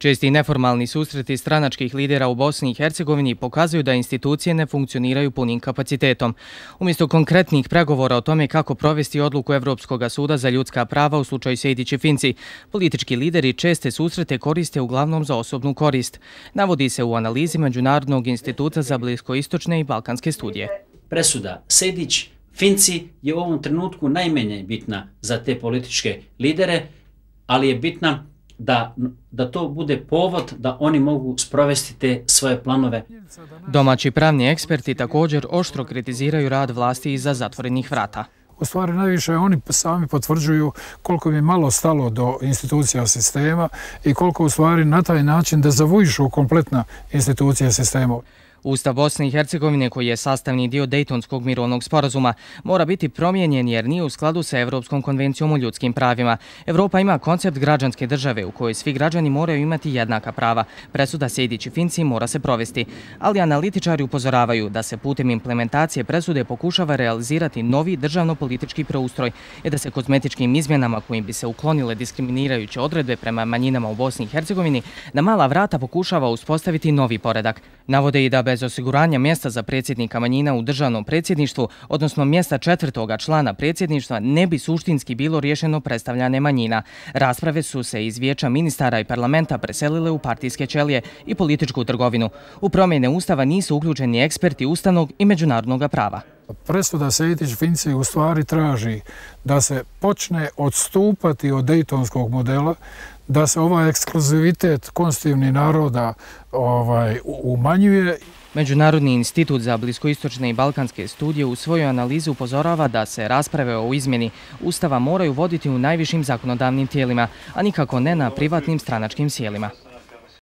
Česti i neformalni susreti stranačkih lidera u Bosni i Hercegovini pokazuju da institucije ne funkcioniraju punim kapacitetom. Umjesto konkretnih pregovora o tome kako provesti odluku Evropskog suda za ljudska prava u slučaju Sejdić-Finci, politički lideri česte susrete koriste uglavnom za osobnu korist. Navodi se u analizi Međunarodnog instituta za bliskoistočne i balkanske studije. Presuda Sejdić-Finci je u ovom trenutku najmanje bitna za te političke lidere, ali je bitna da to bude povod da oni mogu sprovesti te svoje planove. Domaći pravni eksperti također oštro kritiziraju rad vlasti iza zatvorenih vrata. U stvari najviše oni sami potvrđuju koliko im je malo stalo do institucija sistema i koliko u stvari na taj način dezavuišu kompletna institucija sistema. Ustav Bosne i Hercegovine, koji je sastavni dio Dejtonskog mirovnog sporazuma, mora biti promijenjen jer nije u skladu sa Evropskom konvencijom o ljudskim pravima. Evropa ima koncept građanske države u kojoj svi građani moraju imati jednaka prava. Presuda Sejdić-Finci mora se provesti, ali analitičari upozoravaju da se putem implementacije presude pokušava realizirati novi državno-politički preustroj i da se kozmetičkim izmjenama kojim bi se uklonile diskriminirajuće odredbe prema manjinama u Bosni i Hercegovini na mala vrata pokušava uspostaviti novi poredak. Navode i da bez osiguranja mjesta za predsjednika manjina u državnom predsjedništvu, odnosno mjesta četvrtoga člana predsjedništva, ne bi suštinski bilo riješeno predstavljanje manjina. Rasprave su se iz vijeća ministara i parlamenta preselile u partijske ćelije i političku trgovinu. U promjene Ustava nisu uključeni eksperti ustavnog i međunarodnog prava. Presuda Sejdić-Finci u stvari traži da se počne odstupati od dejtonskog modela, da se ovaj ekskluzivitet konstitutivnih naroda umanjuje. Međunarodni institut za bliskoistočne i balkanske studije u svojoj analizi upozorava da se rasprave o izmjeni Ustava moraju voditi u najvišim zakonodavnim tijelima, a nikako ne na privatnim stranačkim sjelima.